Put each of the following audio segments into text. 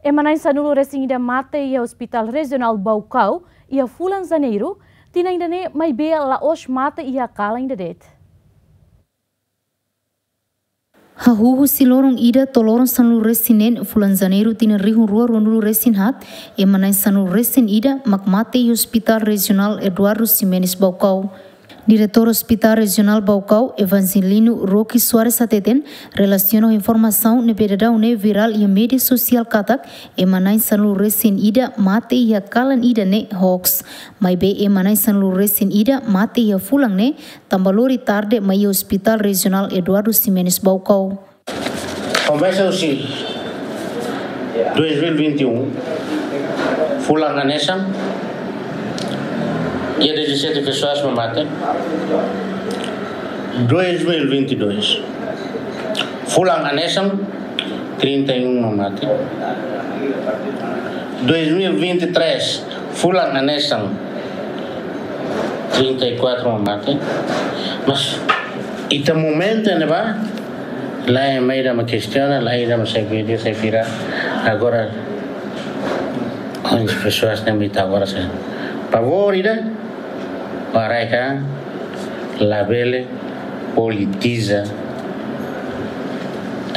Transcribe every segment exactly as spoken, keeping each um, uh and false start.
Ema na'in sanulu-resin-ida mate iha Hospital Rejionál Baucau iha fulan Janeiru tinan ida-ne'e, maibé la'ós mate iha kalan ida de'it. Hahú husi loron ida to'o loron sanulu-resin-neen fulan Janeiru tinan rihun rua ruanulu-resin-haat, ema na'in sanulu-resin-ida mak mate iha Hospital Rejionál Eduardo Ximenes Baucau. Diretór Hospital Rejionál Baucau, Evangelino Roque Soares hateten, relasiona ho informasaun ne'ebé daudaun ne'e virál iha média sosiál katak ema na'in sanulu-resin-ida mate iha kalan ida ne'e hoax. Maibé ema na'in sanulu-resin-ida mate iha fulan ne'e tanba lori tarde mai iha Hospital Rejionál Eduardo Ximenes Baucau. Komesa husi dois mil e vinte e um, fulan hanesan, iha dezassete pessoas mak mate. Dois mil e vinte e dois, fulan hanesan, trinta e um mak mate. Dois mil e vinte e três, fulan hanesan, trinta e quatro mak mate. Mas ita momentu ne'ebá, la'en ema ida mak kestiona, la'en ida mak sai vídeo, sai virál. Agora, onde pessoas ne'e mak ita agora sai. Favór ida, para ka, labele politiza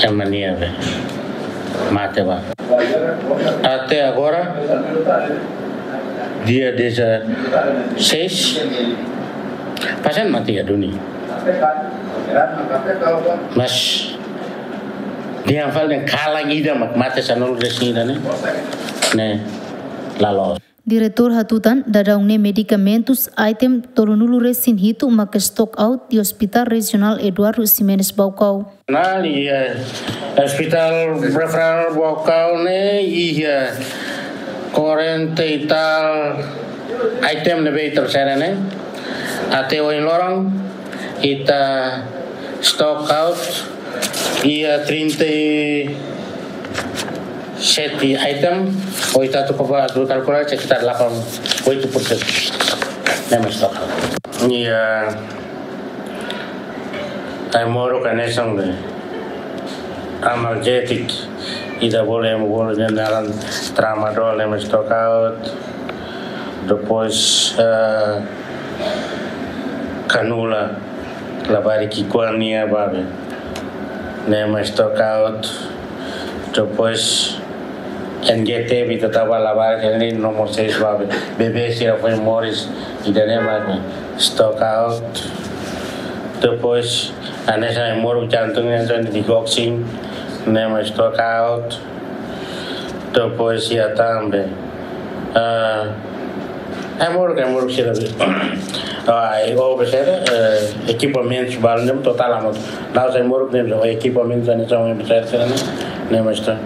ema nia be mate ba. Até agora, dia dezasseis, pasiente mate iha duni. Mas, dia fal den kalan ida mak mate sanulu-resin-ida ne'e, ne'e, la loos. Diretór hatutan, daudaun ne'e medikamentus item tolunulu-resin-hitu mak stock out iha Hospital Rejionál Eduardo Ximenes Baucau. Nah, iha Hospital Referral Baucau ne'e iha quarenta e tal item ne'ebé ita sera ne'e. Até ohin loron ita stock out iha trinta e sete item, ou ita atu koba atu kalkula sekitar delapan, oito persen. Ne'e mak stock out. Iha ai-moruk hanesan be analgésico, ida bolu, ema bolu ne'e naran tramadol, ne'e mak stock out. Depois, eh, kanula, labarik ki'ikoan nian ba be, ne'e mak stock out. Depois, N G T, ita tau ba labarik ne'e, no more seis ba be, bebé sira foin moris, ida-ne'e mak stock out. Depois, hanesan ai-moruk jantung, hanesan digoxin, ne'e mak stock out. Depois iha tan be, ah, ai-moruk, ai-moruk sira be. Ah, e o be sira, eh, ekipamentus balu ne'e totál hamutuk. La'ós ai-moruk ne'e, ekipamentus ne'e sira be sira, sira ne'e, ne'e mak stock,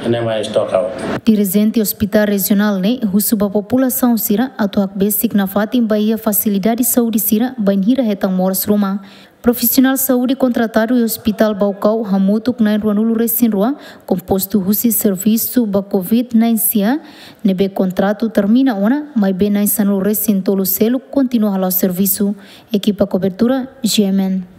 ne'e mak stock out. Dirijente Hospital Rejionál ne'e husu ba populasaun sira atu hakbesik nafatin ba iha fasilidade saúde sira bainhira hetan moras ruma. Profisionál saúde kontratadu iha Hospital Baucau hamutuk na'in ruanulu-resin-rua, kompostu husi servisu ba covid na'in sia, ne'ebé kontratu termina ona, maibé na'in sanulu-resin-tolu seluk kontinua hala'o servisu. Ekipa kobertura, G M N.